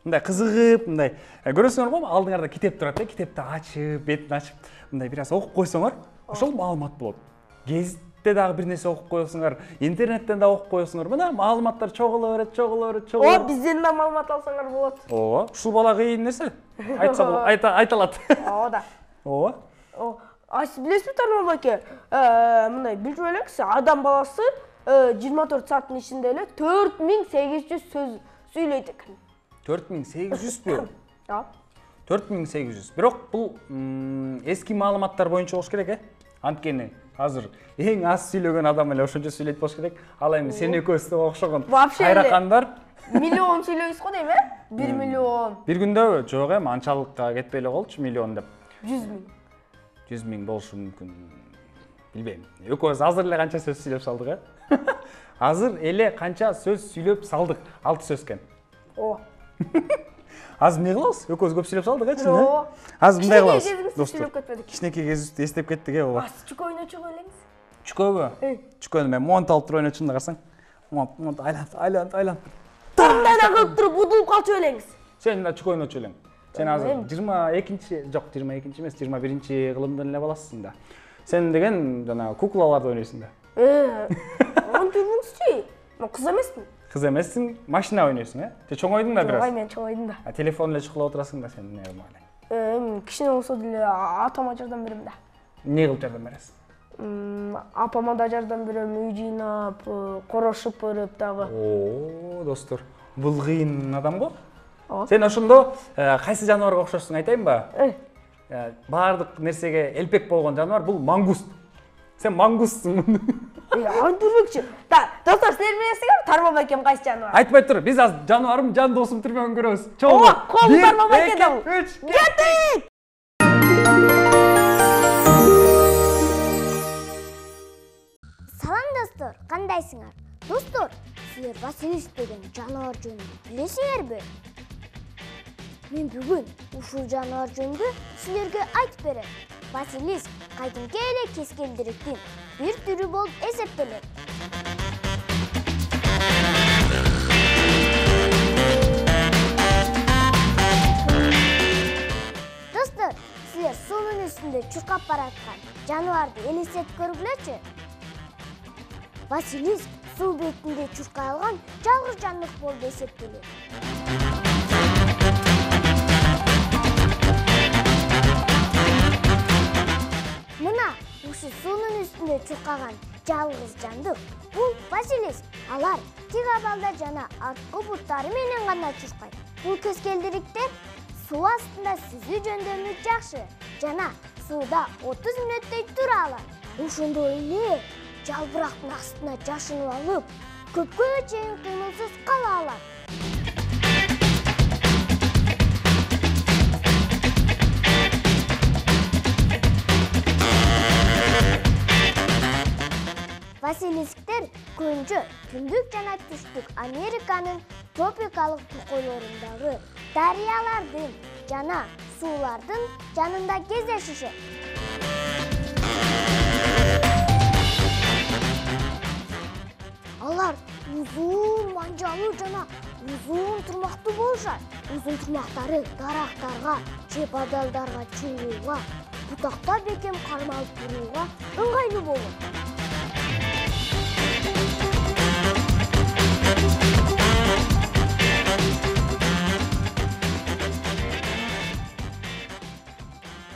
Мындай кызыгып, мындай көрөсүңөр го, алдыңарда китеп турат, китепти ачып, бетин ачып, мындай бир аз окуп койсоңор, ошол маалымат болот. Гезитте дагы бир нерсе окуп коесуңар, интернеттен да окуп коесуңар. Мына маалыматтар чогула берет. Бизден да маалымат алсаңар болот. Ооба, ушул бала кыйын нерсе. Айта алат. Ооба да. Ооба. Сиз билесизби, Тармабеке, мындай билип элеңиз, адам баласы 24 сааттын ичинде эле 4800 сөз сүйлөйт экен. 4800бү? 4800. Бирок бул эски маалыматтар боюнча болуш керек, Анткени азыр эң аз сүйлөгөн адам эле ошончо сүйлөйт болуш керек. Ал эми сен экөөбүздө окшогон кайракандар миллион сүйлөйсүз го дейм, 1 миллион. Бир күндө жок анчалыкка кетпей эле болчу, миллион деп. 100 000. 100 000 болушу мүмкүн. Билбейм. Экөөбүз азыр эле канча сөз сүйлөп салдык, Азыр эле канча сөз сүйлөп салдык? 6 сөз экен. Азыр эмне кылабыз? Экөөбүз көп сүйлөп салдык, чын. Азыр мындай кылабыз. Достор, кичинекей кезибизди эстеп кеттик, ооба. Чүкө ойночу элеңиз. Чүкөбү? Чүкөнү мен монт алып туруп ойночумун да, карасаң. Монт айланып. Таңдай эле кылып туруп удулуп калчу элеңиз. Сен да чүкө ойночу элең. Сен азыр 22-чи, жок, 22-чи эмес, 21-чи кылымдын эле баласысың да. Сен деген жана куклаларды ойнойсуң да. Антурмунчу. Мен кыз эмесмин. Кыз эмессиң, машина ойнойсуң, Же чоң ойдуң да бир аз? Ой, мен чоң ойдум да. Телефон эле чукулап отурасың да сен, эмне кылмак Кичине болсо деле атама жардам берем да. Эмне кылып жардам бересиң? Апама да жардам берем, үй жыйнап, корошуп барып дагы. Достор, бул кыйын адам го. Сен ошондо кайсы жаныбарга окшошсуң айтайынбы? Баардык нерсеге элпек болгон жаныбар бул мангуст. Сен мангустсуң. Антурбекчи. Достор, силер билесиңер, Тарбал байкем кайсы жаныбар? Айтпай тур, биз азыр жаныбарым, жан досум түрмөгөн көрөбүз. Ооба, кол Тарбал байкем. 3, кеттик! Салам достор, кандайсыңар? Достор, силер Василиск деген жаныбар жөнүндө билесиңерби? Мен бүгүн ушул жаныбар жөнүндө силерге айтып берем. Василиск кайдымки эле кескелдириктин бир түрү болуп эсептелет. Достор, силер суунун үстүндө чуркап бараткан жаныбарды элестетип көргүлөчү. Василиск суу бетинде чуркай алган жалгыз жандык болуп эсептелет. Мына ушу суунун үстүндө чуркаган жалгыз жандык бул Василиск. Алар тик абалда жана арткы буттары менен гана чуркайт. Бул кескелдириктер суу астында сүзүү жөндөмү жакшы жана сууда 30 мүнөттөй тура алат. Ошондой эле жалбырактын астына жашынып алып, көпкө чейин кыймылсыз кала алат. Василисктер көбүнчө түндүк жана түштүк Американын тропикалык токойлорундагы дарыялардын жана суулардын жанында кездешишет. Алар узун манжалуу жана узун турмактуу болушат. Узун турмактары дарактарга же бадалдарга чыгууга, бутакта бекем кармалып турууга ыңгайлуу болот.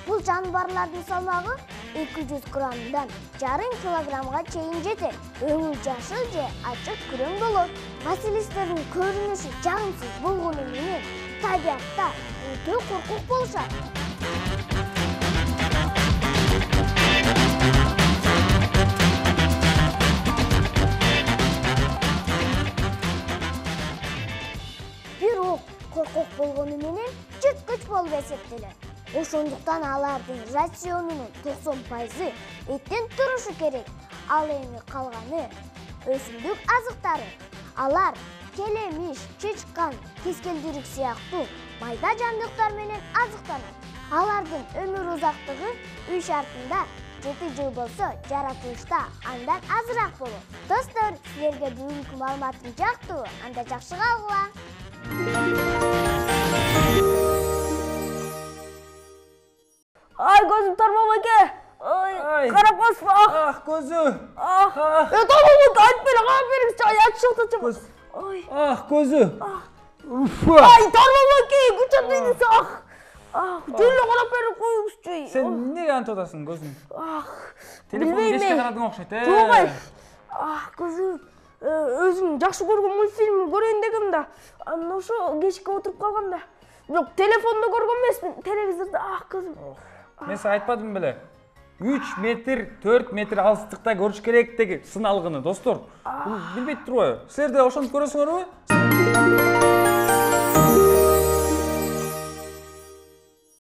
Бул жаныбарлардын салмагы 200 граммдан 1,5 килограммга чейин жетет. Өңү жашыл же ачык күрөң болот. Василисктердин көрүнүшү жагымсыз болгону менен табиатта өтө коркук болушат. Бирок коркук болгону менен жырткыч болуп эсептелет. Ошондуктан алардын рационунун 90% эттен турушу керек. Ал эми калганы өсүмдүк азыктары. Алар келемиш, чычкан, кескелдирик сыяктуу майда жандыктар менен азыктанат. Алардын өмүр узактыгы үй шартында 7 жыл болсо, жаратылышта андан азыраак болот. Достор, силерге бүгүнкү маалыматым жактуу, анда жакшы калгыла. Ай, көзүм Тарбал байке. Ай, карап калсың. Көзү. Тарбал айтып бере, карап бериңизчи. Ай, чыкты. Ай. Көзү. Ай, Тарбал байке, күчөп дейсиң. Жөн карап берип коюңузчу. Сен эмнеге антып атасың көзүң? Билбейм. Телефонду кечке карадың окшойт, Тугай. Кызым, өзүм жакшы көргөн мультфильм көрөйүн дегем да, анан ошо кечке отуруп калгам да. Бирок телефондо көргөн эмесмин, телевизордо. Кызым. Мен сага айтпадым беле? 3 метр, 4 метр алыстыкта көрүш керек деги сыналгыны, достор. Бул билбейт турбайбы? Силер да ошентип көрөсүңөрбү?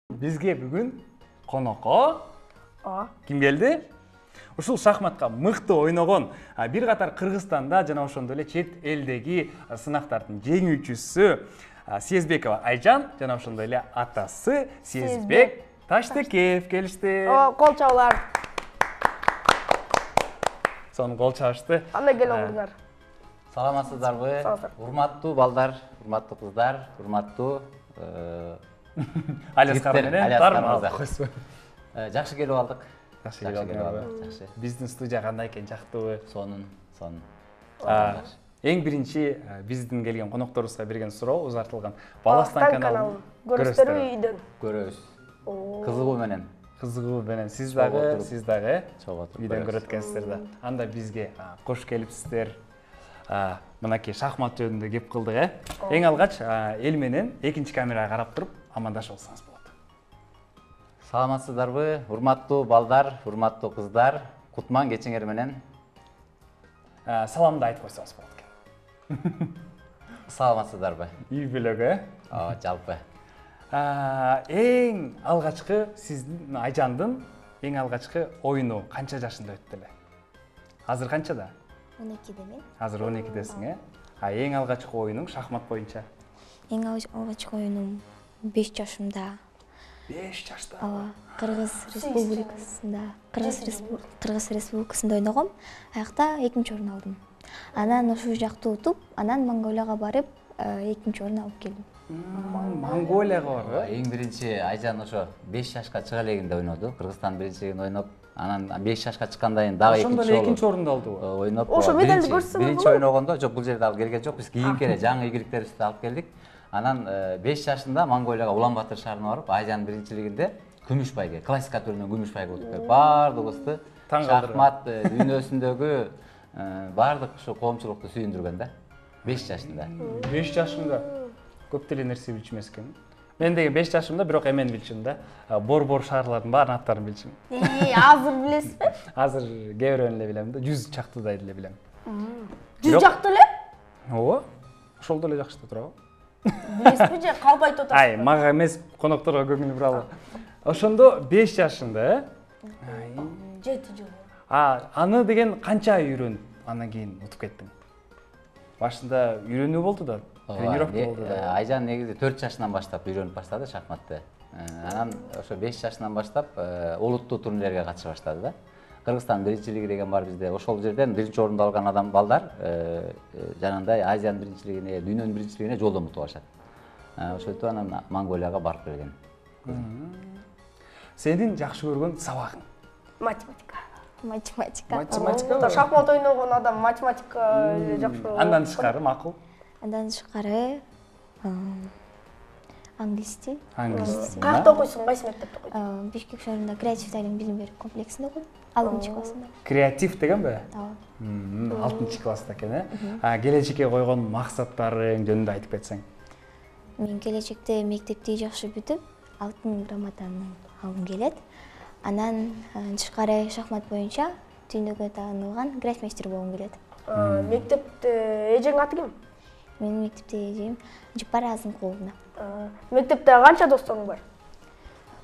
Бизге бүгүн конокко ким келди? Ушул шахматка мыкты ойногон бир катар Кыргызстанда жана ошондой эле чет элдеги сынактардын жеңүүчүсү Сезбекова Айжан жана ошондой эле атасы Сезбек Таштекеев келишти. Кол чабуулар. Сонун кол чабышты. Андай келе алыңыздар. Саламатсыздарбы? Урматтуу балдар, урматтуу кыздар, урматтуу Алескар менен Тармал. Жакшы келип алдык. Жакшы келип алдык. Жакшы. Биздин студия кандай экен, жактыбы? Сонун. Эң биринчи биздин келген конокторубузга берген суроо узартылган. Баластан каналын көрөсүзбү үйдөн? Көрөбүз. Кызыгуу менен. Сиз дагы чогуу отуруп үйдөн көрөт экенсиздер да. Анда бизге кош келипсиздер. Мынакей шахмат жөнүндө кеп кылдык, Эң алгач эл менен экинчи камерага карап туруп амандашып алсаңыз болот. Саламатсыздарбы? Урматтуу балдар, урматтуу кыздар, кутман кечиңер менен. Саламды айтып койсоңуз болот экен. Саламатсыздарбы? Үй бүлөгө. Жалпы. Эң алгачкы сиздин Айжандын эң алгачкы оюну канча жашында өттү эле? Азыр канчада? 12-де мен. Азыр 12-десиң, Эң алгачкы оюнуң шахмат боюнча? Эң алгачкы оюнум 5 жашымда. 5 жашта? Кыргыз Республикасында ойногом. Аякта 2-нчи орун алдым. Анан ошол жакты утуп, анан Монголияга барып, 2-нчи орун алып келдим. Монголияга барып? Эң биринчи Айжан ошо 5 жашка чыга элегинде ойноду. Кыргызстан биринчилигин ойноп, анан 5 жашка чыккандан кийин дагы экинчи орунду алдыбы? Ойноп, ошо медалды көрсөң болобу? Биринчи ойногондо жок, бул жерде алып келген жок. Биз кийинки эле жаңы ийгиликтерибизди алып келдик. Анан 5 жашында Монголияга Улан-Батыр шаарына барып, Айжан биринчилигинде күмүш байге, классика түрүнөн күмүш байге утуп келип, баардыгыбызды шахмат дүйнөсүндөгү баардык ушу коомчулукту сүйүндүргөн да. 5 жашында. 5 жашында көп деле нерсе билчү эмес экен. Мен деген 5 жашымда бирок эмени билчүм да. Бор шаарлардын баарын аттарын билчүм. Азыр билесизби? Азыр кээ бирөөнү эле билем да, 100 чактыдай эле билем. 100 жакты эле? Ооба. Ошол деле жакшы турабы? Билесизби же калп айтып атасыз? Мага эмес, конокторго көңүл буралы. Ошондо 5 жашында, 7 жыл. Аны деген канча ай үйрөнүп, андан кийин утуп кеттиң? Башында үйрөнүү болду да, тренировка болду да. Айжан негизи 4 жашынан баштап үйрөнүп баштады шахматты. Анан ошо 5 жашынан баштап улуттуу турнирлерге катыша баштады да. Кыргызстан биринчилиги деген бар бизде. Ошол жерден биринчи орунду алган адам балдар жанагындай Азиянын биринчилигине, дүйнөнүн биринчилигине жолдон утуп алышат. Ошентип анан Монголияга барып келген. Сенин жакшы көргөн сабагың? Математика. Математика. Шахмат ойногон адам математика жакшы көрөт. Андан тышкары макул? Андан тышкары англис тил. Каякта окуйсуң, кайсы мектепте окуйсуң? Бишкек шаарында креатив талим билим берүү комплексинде окуйм. 6-классында. Креатив дегенби? Ооба. 6-класста экен, Келечекке койгон максаттарың жөнүндө айтып кетсең. Мен келечекте мектепти жакшы бүтүп, алтын грамотаны алгым келет. Анан тышкары шахмат боюнча дүйнөгө таанылган гроссмейстер болгум келет. Мектепте эжең аты ким? Менин мектепте эжем Жапар Азымкуловна. Мектепте канча досторуң бар?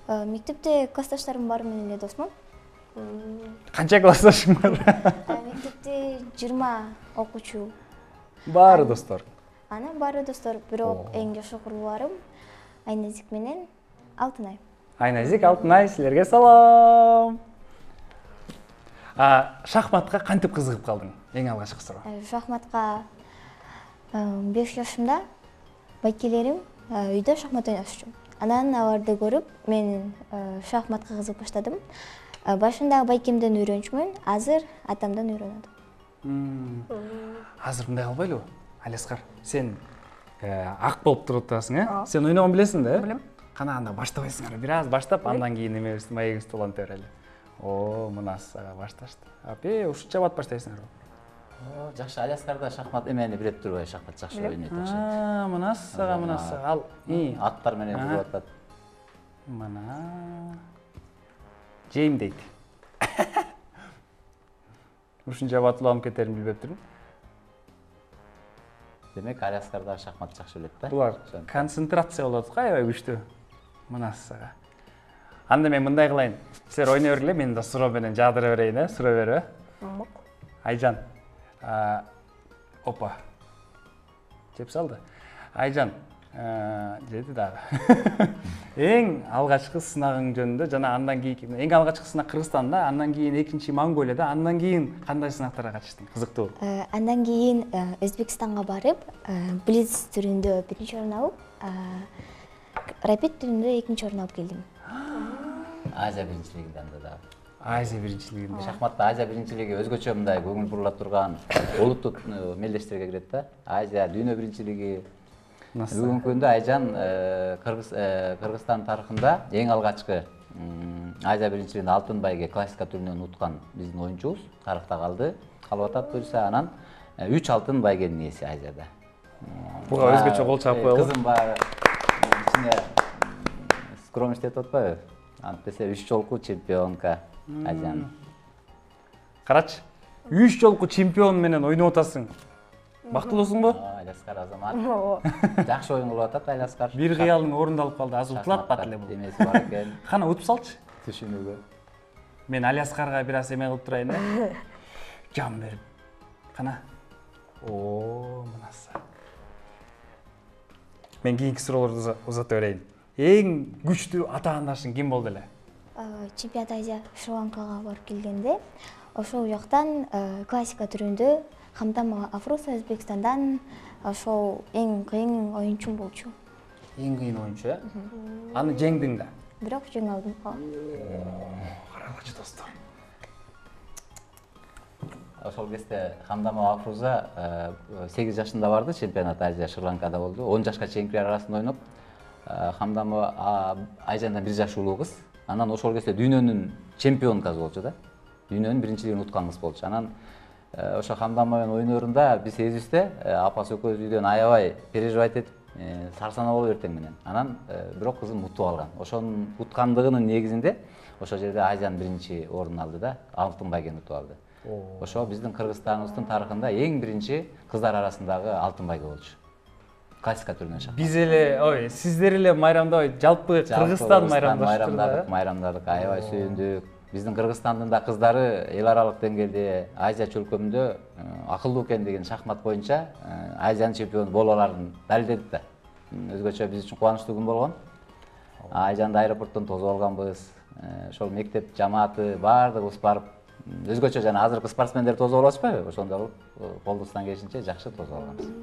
Мектепте классташтарым баары менен эле досмун. Канча классташың бар? Мектепте 20 окуучу. Баары достор. Анан баары достор, бирок эң жакшы курбуларым Айназик менен Алтынай. Айназик, Алтынай, силерге салам. Шахматка кантип кызыгып калдың? Эң алгачкы суроо. Шахматка 5 жашымда байкелерим үйдө шахмат ойношчу. Анан аларды көрүп, мен шахматка кызыгып баштадым. Башында байкемден үйрөнчүмүн, азыр атамдан үйрөнөдүм. Азыр мындай кылбайлыбы? Алескар, сен ак болуп туруп атасың, Сен ойногон билесиң да? Билем. Кана анда баштабайсың, бир аз баштап, андан кийин эмебизди маегибизди уланта берели. Мына сага башташты. Ушунча бат баштайсыңарбы? Жакшы Аляскарда шахмат эмени билет турбай, шахмат жакшы ойнойт окшойт. Мына сага. Ал аттар менен жүрүп атат. Мына Жейм дейт. Ушунча батылап кетерин билбеп турмун. Демек Аляскарда шахмат жакшы билет да. Булар концентрация болот го, аябай күчтүү. Мына сага. Анда мен мындай кылайын. Силер ойной бергиле, мен да суроо менен жаадыра берейин, суроо берип. Айжан. Опа. Жеп салды. Айжан, жеди дагы. Эң алгачкы сынагың жөнүндө жана андан кийинки эң алгачкы сынак Кыргызстанда, андан кийин экинчи Монголияда, андан кийин кандай сынактарга катыштың? Кызыктуу. Андан кийин Өзбекстанга барып, блиц түрүндө биринчи орун алып, рапид түрүндө экинчи орун алып келдим. Азия биринчилигинде анда да. Азия биринчилигинде. Шахматта Азия биринчилиги өзгөчө мындай көңүл бурула турган улуттук мелдештерге кирет да. Азия дүйнө биринчилиги. Бүгүнкү күндө Айжан Кыргызстан тарыхында эң алгачкы Азия биринчилигинде алтын байге классика түрүнөн уткан биздин оюнчубуз тарыхта калды. Калып атат буюрса, анан 3 алтын байгенин ээси Азияда. Буга өзгөчө кол чаап коелу. Кызым бар ичине скромность деп атпайбы? Антесе 3 жолку чемпионка Айжан. Карачы, 3 жолку чемпион менен ойноп атасың. Бактылуусуңбу? Аляскар азамат. Жакшы оюн кылып атат Аляскар. Бир кыялың орундалып калды, азыр утулатпат эле бул. Эмеси бар экен. Кана утуп салчы. Түшүнүүгө. Мен Аляскарга бир аз эме кылып турайын да. Жан берип. Кана. Мынасы. Мен кийинки суроолорду узата берейин. Эң күчтүү ата-анашың ким болду эле? Чемпионат Азия Шри-Ланкага барып келгенде, ошол жактан классика түрүндө Хамдам Афруса Өзбекстандан ошол эң кыйын оюнчум болчу. Эң кыйын оюнчу, э? Аны жеңдиң да? Бирок жеңе алдым. Карагычы достор. Ошол кезде Хамдамова Афруза 8 жашында барды, чемпионат Азия Шри-Ланкада болду. 10 жашка чейинкилер арасында ойноп, Хамдамова Айжандан 1 жаш улуу кыз. Анан ошол кезде дүйнөнүн чемпионкасы болчу да. Дүйнөнүн биринчилигин уткан кыз болчу. Анан ошо Хамдамова менен ойнорунда биз эзибизде апасы экөөбүз үйдөн аябай переживать этип, сарсанаа болуп эртең менен. Анан бирок кызым утуп алган. Ошонун уткандыгынын негизинде ошол жерде Айжан биринчи орун алды да, алтын байгени утуп алды. Ошо биздин Кыргызстаныбыздын тарыхында эң биринчи кыздар арасындагы алтын байге болчу. Классика түрүнөн шахмат. Биз эле, сиздер эле майрамдабай, жалпы Кыргызстан майрамдадык, аябай сүйүндүк. Биздин Кыргызстандын да кыздары эл аралык деңгээлде Азия чөлкөмүндө акылдуу экендигин шахмат боюнча Азиянын чемпиону боло аларын далилдедик да. Өзгөчө биз үчүн кубанычтуу күн болгон. Айжанды аэропорттон тосуп алганбыз. Ошол мектеп жамааты баардыгыбыз барып, өзгөчө жана азыркы спортсмендер тосуп алышпайбы? Ошондой колдустан келишинче жакшы тосуп алганбыз.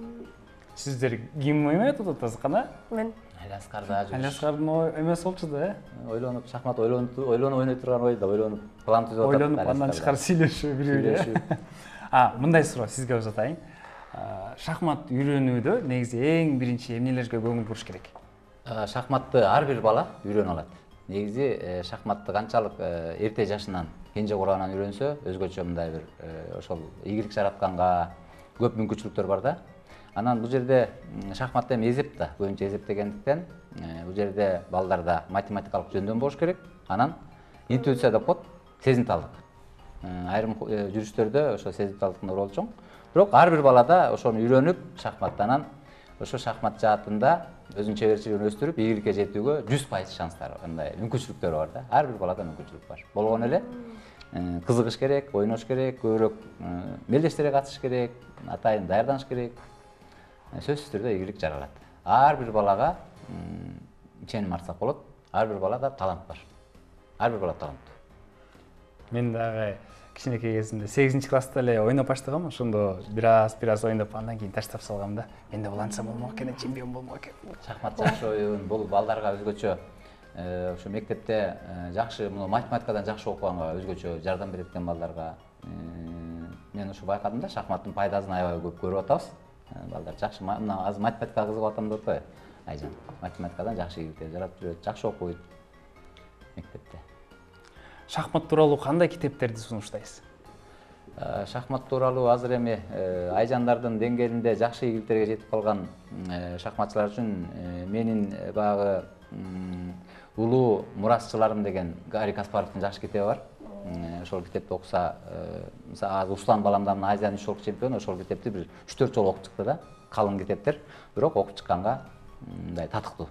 Сиздер ким ойнойт атасыз кана? Мен. Аляскарда жүрүш. Аляскардын эмеси болчу да, Ойлонуп, шахмат ойлонуп ойной турган ойда, ойлонуп, план түзүп атат. Ойлонуп, андан чыкар сүйлөшүү, бири-бири. Мындай суроо сизге узатайын. Шахмат үйрөнүүдө негизи эң биринчи эмнелерге көңүл буруш керек? Шахматты ар бир бала үйрөнө алат. Негизи шахматты канчалык эрте жашынан, кенже кураганан үйрөнсө, өзгөчө мындай бир ошол ийгилик жаратканга көп мүмкүнчүлүктөр бар да. Анан бул жерде шахматта эми эзеп да, көбүнчө эзептегендиктен бул жерде балдарда математикалык жөндөм болуш керек. Анан интуиция деп коет, сезимталдык. Айрым жүрүштөрдө ошо сезимталдыктын ролу чоң. Бирок ар бир балада ошону үйрөнүп, шахматтан ошо шахмат жаатында өзүнүн чеберчилигин өстүрүп, ийгиликке жетүүгө 100% шанстары, мындай мүмкүнчүлүктөр бар да. Ар бир балада мүмкүнчүлүк бар. Болгон эле кызыгыш керек, ойнош керек, көбүрөөк мелдештерге катышыш керек, атайын даярданыш керек. Сөзсүз түрдө ийгилик жаралат. Ар бир балага иченим артсак болот. Ар бир балада талант бар. Ар бир бала таланттуу. Мен дагы кичинекей кезимде 8-класста эле ойноп баштагам, ошондо бир аз ойноп, андан кийин таштап салгам да. Менде буланса болмок экен, чемпион болмок экен. Шахмат жакшы оюн, бул балдарга өзгөчө ошо мектепте жакшы, муну математикадан жакшы окуганга өзгөчө жардам берет экен балдарга. Мен ошо байкадым да, шахматтын пайдасын аябай көп көрүп атабыз. Балдар жакшы, мына азыр математикага кызыгып атам деп атпайбы? Айжан математикадан жакшы ийгиликтер жаратып жүрөт, жакшы окуйт мектепте. Шахмат тууралуу кандай китептерди сунуштайсыз? Шахмат тууралуу азыр эми Айжандардын деңгээлинде жакшы ийгиликтерге жетип калган шахматчылар үчүн менин баягы улуу мурасчыларым деген Гарри Каспаровдун жакшы китеби бар. Ошол китепти окуса, мисалы Услан баламдан Азиянын 3 жолку чемпиону, ошол китепти бир 3-4 жолу окуп чыкты да. Калың китептер, бирок окуп чыкканга мындай татыктуу.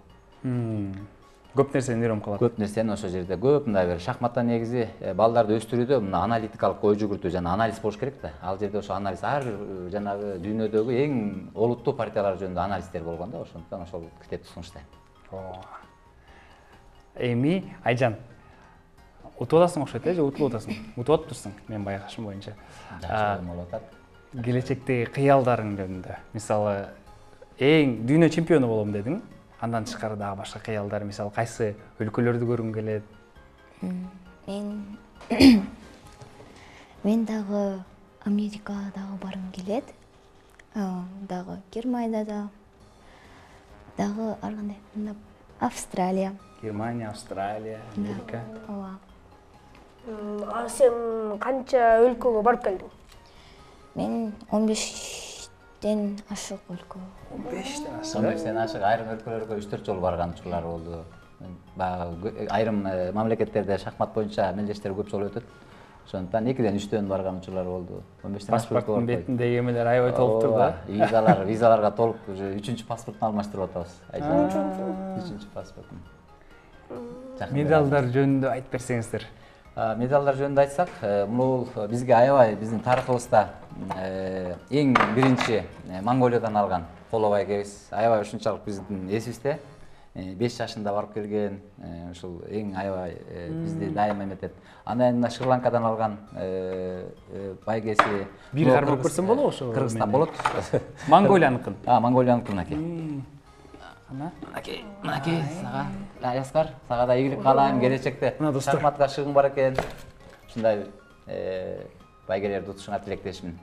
Көп нерсени үйрөнүп калат. Көп нерсени ошол жерде көп мындай бир шахматта негизи балдарды өстүрүүдө мына аналитикалык ой жүгүртүү жана анализ болуш керек да. Ал жерде ошо анализ ар бир жанагы дүйнөдөгү эң олуттуу партиялар жөнүндө анализдер болгон да, ошондуктан ошол китепти сунуштайм. Эми Айжан утуп атасың окшойт, же утулуп атасың? Утуп атыптырсың, мен байкашым боюнча. Жакшы болуп атат. Келечектеги кыялдарың жөнүндө, мисалы, эң дүйнө чемпиону болом дедиң. Андан тышкары дагы башка кыялдар, мисалы, кайсы өлкөлөрдү көргүң келет? Мен дагы Америкага дагы баргым келет. Дагы Германияда дагы ар кандай Австралия. Германия, Австралия, Америка. Ооба. Сен канча өлкөгө барып келдиң? Мен 15-тен ашык өлкө. 15-тен ашык. 15-тен ашык айрым өлкөлөргө 3-4 жолу барган учурлар болду. Баягы айрым мамлекеттерде шахмат боюнча мелдештер көп жолу өтөт. Ошондуктан 2-ден 3-төн барган учурлар болду. 15-тен паспорттун бетиндеги эмелер аябай толуптур да. Визаларга толуп уже 3-чү паспорттун алмаштырып атабыз. 3-чү паспорттун. Медалдар жөнүндө айтып берсеңиздер. Медалдар жөнүндө айтсак, бул бизге аябай биздин тарыхыбызда эң биринчи Монголиядан алган коло байгебиз. Аябай ушунчалык биздин эсибизде. 5 жашында барып келген, ушул эң аябай бизди дайыма эметет. Андан кийин Шри-Ланкадан алган байгеси. Бир кармап көрсөм болобу ошо? Кыргызстан болот. Монголияныкын. Монголияныкын аке. Мынакей, сага Аяскар, сага да ийгилик каалайм, келечекте шахматка шыгың бар экен. Ушундай байгелерди утушуңа тилектешмин.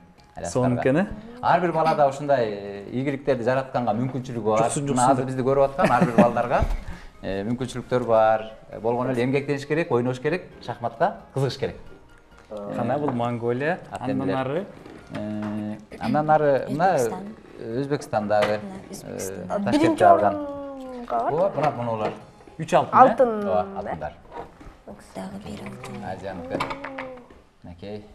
Сонун экен, ар бир балада ушундай ийгиликтерди жаратканга мүмкүнчүлүгү бар. Мына азыр бизди көрүп аткан ар бир балдарга мүмкүнчүлүктөр бар. Болгон эле эмгектениш керек, ойнош керек, шахматка кызыгыш керек. Кана бул Монголия, андан ары мына Өзбекстандагы Ташкентте алган. Ооба, мунулар 3 алтын. Алтын. Ооба, алтындар. Дагы бир алтын. Азияныкы. Накей.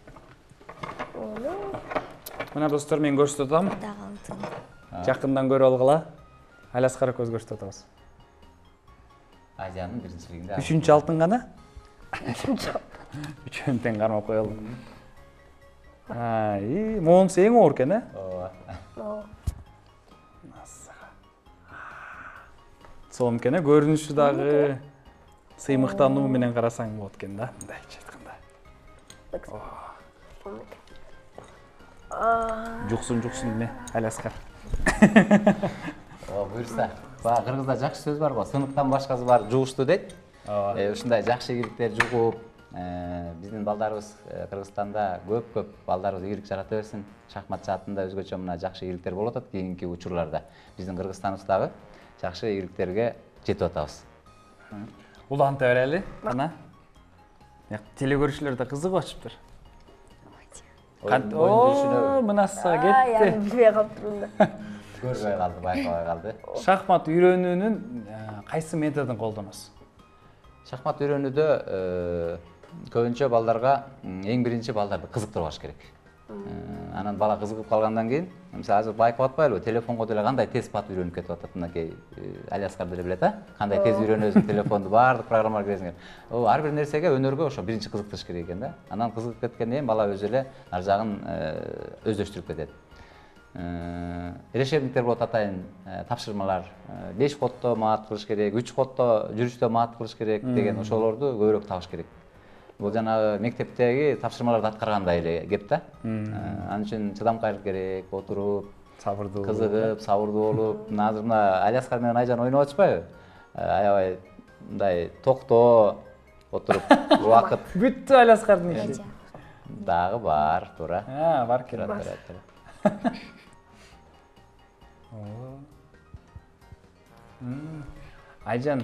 Мына достор, мен көрсөтүп атам. Дагы алтын. Жакындан көрүп алгыла. Аляскара көз көрсөтүп атабыз. Азиянын биринчилигинде. 3-чү алтын гана? 3-чү алтын. 3-өн тең кармап коелу. Монусу эң оор экен, Ооба. Сонун экен, көрүнүшү дагы сыймыктануу менен карасаң болот экен да, мындайча айтканда. Жуксун эмне, Аляскар. Буюрса. Баягы кыргызда жакшы сөз бар го, сыныктан башкасы бар жугуштуу дейт. Ушундай жакшы ийгиликтер жугуп, биздин балдарыбыз Кыргызстанда көп балдарыбыз ийгилик жарата берсин. Шахмат жаатында өзгөчө мына жакшы ийгиликтер болуп атат кийинки учурларда. Биздин Кыргызстаныбыздагы жакшы ийгиликтерге жетип атабыз. Уланта берели, кана. Теле көрүүчүлөр да кызыгып атышыптыр. Мынаса кетти. Билбей калыптырмын да. Көрбөй калды, байкабай калды. Шахмат үйрөнүүнүн кайсы методун колдоносуз? Шахмат үйрөнүүдө көбүнчө балдарга эң биринчи балдарды кызыктырбаш керек. Анан бала кызыгып калгандан кийин, мисалы азыр байкап атпайлыбы, телефонго деле кандай тез пат үйрөнүп кетип атат, мынакей Аляскар деле билет, кандай тез үйрөнөсүң телефонду, баардык программалар киресиң. Ар бир нерсеге, өнөргө ошо биринчи кызыктырыш керек экен да. Анан кызыгып кеткенден кийин бала өзү эле ар жагын өздөштүрүп кетет. Решебниктер болот атайын тапшырмалар. 5 ходдо маат кылыш керек, 3 ходдо жүрүштө маат кылыш керек деген ошолорду көбүрөөк табыш керек. Бул жанагы мектептеги тапшырмаларды аткаргандай эле кеп да. Анын үчүн чыдамкайлык керек, отуруп, сабырдуу, кызыгып, сабырдуу болуп. Азыр мына Аляскар менен Айжан ойноп атышпайбы? Аябай мындай токтоо отуруп убакыт. Бүттү Аляскардын иши. Дагы бар, туура. Бар экен. Айжан,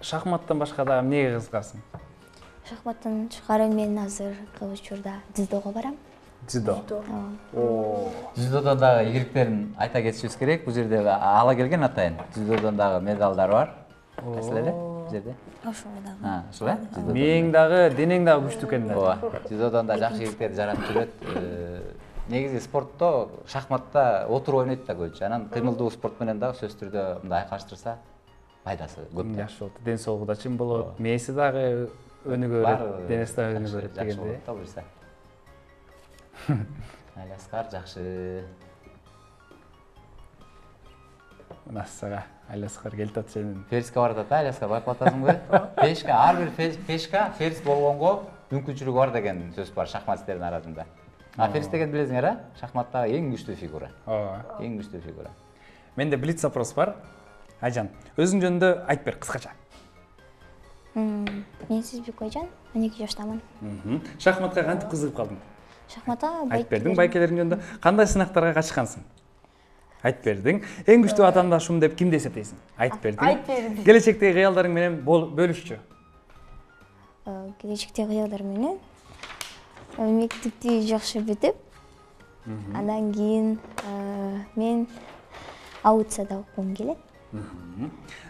шахматтан башка дагы эмнеге кызыгасың? Шахматтан тышкары мен азыр көп учурда дзюдого барам. Дзюдо. Дзюдодон дагы ийгиликтерин айта кетишибиз керек. Бул жерде ала келген атайын. Дзюдодон дагы медалдар бар. Кайсыл эле? Бул жерде. Ошол дагы. Ошол э? Мээң дагы, денең дагы күчтүү экен да. Ооба. Дзюдодон да жакшы ийгиликтерди жаратып жүрөт. Негизи спортто, шахматта отуруп ойнойт да көбүнчө. Анан кыймылдуу спорт менен дагы сөзсүз түрдө мындай айкалыштырса пайдасы көп. Жакшы болот. Ден соолугу да чың болот. Мээси дагы өнүгөт, денеси дагы өнүгөт дегенде. Жакшы болот да Алиаскар жакшы. Мына сага Алиаскар келип атат сенин. Фериске барып атат, Алиаскар байкап атасыңбы? Пешка, ар бир пешка ферис болгонго мүмкүнчүлүгү бар деген сөз бар шахматисттердин арасында. Ферис деген билесиңер, а? Шахматтагы эң күчтүү фигура. Ооба. Эң күчтүү фигура. Менде блиц вопрос бар. Айжан, өзүң жөнүндө айтып бер кыскача. Мен Сизбек Айжан, 12 жаштамын. Шахматка кантип кызыгып калдың? Шахматка айтып бердиң байкелериң жөнүндө. Кандай сынактарга катышкансың? Айтып бердиң. Эң күчтүү атаандашым деп кимди эсептейсиң? Айтып бердиң. Айтып бердим. Келечектеги кыялдарың менен бөлүшчү. Келечектеги кыялдар менен мектепти жакшы бүтүп, андан кийин мен аутсада окугум келет.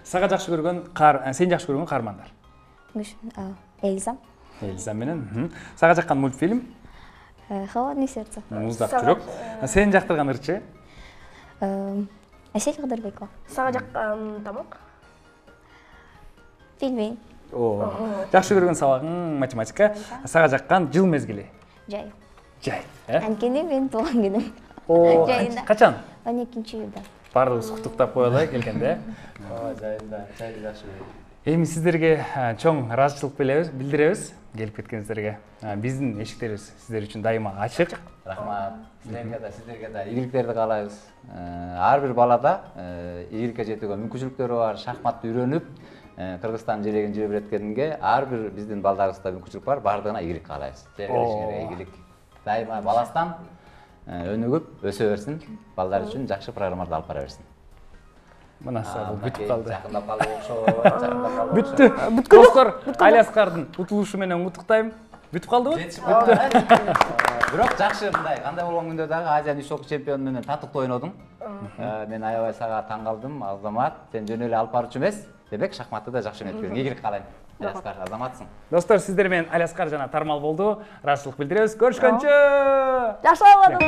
Сага жакшы көргөн сен жакшы көргөн каармандар? Эльза. Эльза менен. Сага жаккан мультфильм? Холодное сердце. Муздак жүрөк. Сен жактырган ырчы? Асель Кадырбекова. Сага жаккан тамак? Пельмень. Жакшы көргөн сабагың математика. Сага жаккан жыл мезгили? Жай. Жай. Анткени мен туулган күнүм. Жайында. Качан? 12-июлда. Баардыгыбыз куттуктап коелу келгенде. Жайында, жай жакшы. Эми сиздерге чоң ыраазычылык билдиребиз келип кеткениңиздерге. Биздин эшиктерибиз сиздер үчүн дайыма ачык. Рахмат. Сиздерге да ийгиликтерди каалайбыз. Ар бир балада ийгиликке жетүүгө мүмкүнчүлүктөрү бар, шахматты үйрөнүп, Кыргызстан желегин желбиреткенге ар бир биздин балдарыбызда мүмкүнчүлүк бар, баардыгына ийгилик каалайбыз. Келечегиңерге ийгилик. Дайыма баластан өнүгүп өсө берсин, балдар үчүн жакшы программаларды алып бара берсин. Мына бул бүтүп калды. Жакындап калды окшойт. Бүттү. Достор, Алиаскардын утулушу менен куттуктайм. Бүтүп калдыбы? Бүттү. Бирок жакшы мындай, кандай болгон күндө дагы Азия үч чемпиону менен татыктуу ойнодуң. Мен аябай сага таң калдым, Азамат. Сен жөн эле алып баруучу эмес. Демек шахматты да жакшы ойноп бериң. Ийгилик каалайм. Алиаскар, Азаматсың. Достор, сиздер менен Алиаскар жана Тармал болду. Ыраазычылык билдиребиз. Көрүшкөнчө. Жакшы болду.